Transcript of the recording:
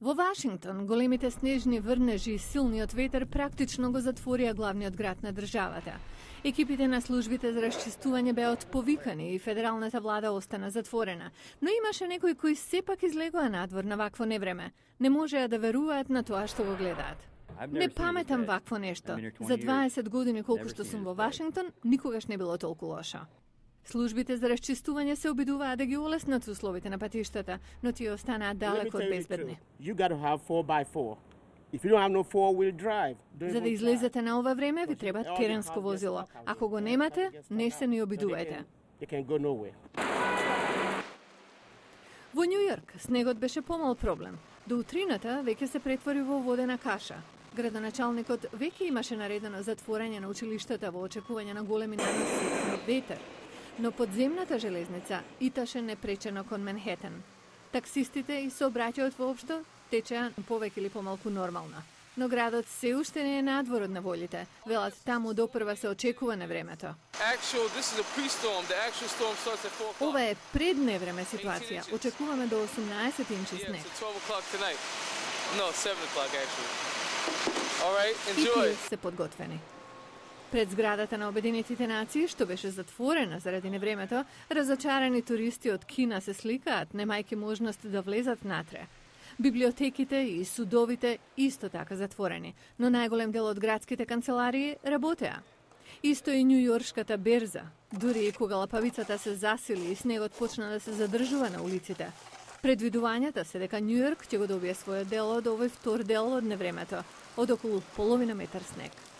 Во Вашингтон, големите снежни врнежи и силниот ветер практично го затворија главниот град на државата. Екипите на службите за расчистување беа отповикани и федералната влада остана затворена, но имаше некои кои сепак излегоа надвор на вакво невреме. Не можеа да веруваат на тоа што го гледаат. Не паметам вакво нешто. За 20 години колку што сум во Вашингтон, никогаш не било толку лошо. Службите за расчистување се обидуваат да ги олеснат условите на патиштата, но тие останаат далеко од безбедни. За да излезете на ова време, ви треба теренско возило. Ако го немате, не се ни обидувајте. Во Њу Јорк снегот беше помал проблем. До утрината веќе се претвори во водена каша. Градоначалникот веќе имаше наредено затворање на училиштата во очекување на големи наноси на ветер. Но подземната железница иташе непречено кон Менхетен. Таксистите и сообраќајот воопшто течеа повеќе или помалку нормално. Но градот се уште не е надвор од неволите. Велат таму допрва се очекува невремето. Ова е предневреме ситуација. Очекуваме до 18 инчи снег. И тие се подготвени. Пред зградата на Обединетите нации, што беше затворена заради невремето, разочарани туристи од Кина се сликаат, немајќи можност да влезат натре. Библиотеките и судовите исто така затворени, но најголем дел од градските канцеларии работеа. Исто и Њујоршката берза, дури и кога лапавицата се засили и снегот почна да се задржува на улиците. Предвидувањата се дека Њујорк ќе го добие својот дел од овој втор дел од невремето, од околу половина метар снег.